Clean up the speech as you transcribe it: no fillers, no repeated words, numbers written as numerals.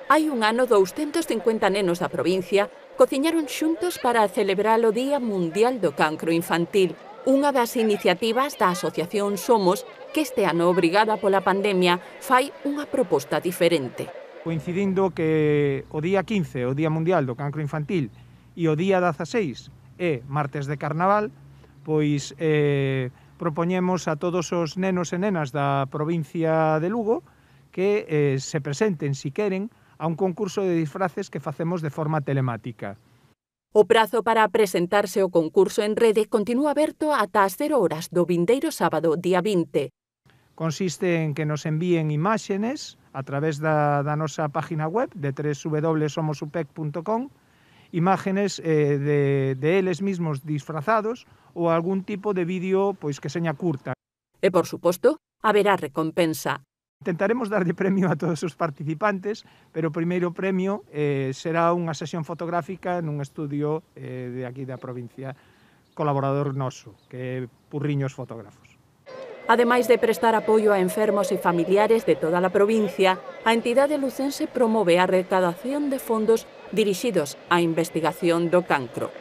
Hai un ano, 250 nenos da provincia cociñaron xuntos para celebrar o Día Mundial do Cancro Infantil, unha das iniciativas da Asociación Somos, que este ano, obrigada pola pandemia, fai unha proposta diferente. Coincidindo que o día 15, o Día Mundial do Cancro Infantil, e o día 16 é martes de Carnaval, pois propoñemos a todos os nenos e nenas da provincia de Lugo que se presenten, si queren, a un concurso de disfraces que facemos de forma telemática. O prazo para presentarse ao concurso en rede continúa aberto ata as 0 horas do vindeiro sábado, día 20. Consiste en que nos envíen imágenes a través da nosa página web de www.somosupec.com, imágenes de eles mismos disfrazados ou algún tipo de vídeo pois que seña curta. E, por suposto, haberá recompensa. Intentaremos darlle premio a todos os participantes, pero o primeiro premio será unha sesión fotográfica nun estudio de aquí da provincia, colaborador noso, que é Purriños Fotógrafos. Ademais de prestar apoio a enfermos e familiares de toda a provincia, a entidade lucense promove a recadación de fondos dirixidos á investigación do cancro.